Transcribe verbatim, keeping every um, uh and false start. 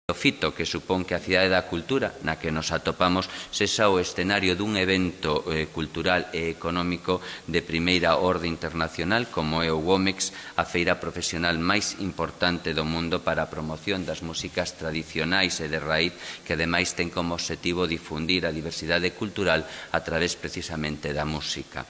O fito que supón que a Cidade da Cultura na que nos atopamos sexa o escenario dun evento eh, cultural e económico de primeira orde internacional como é o WOMEX, a feira profesional máis importante do mundo para a promoción das músicas tradicionais e de raíz, que ademais ten como obxectivo difundir a diversidade cultural a través precisamente da música.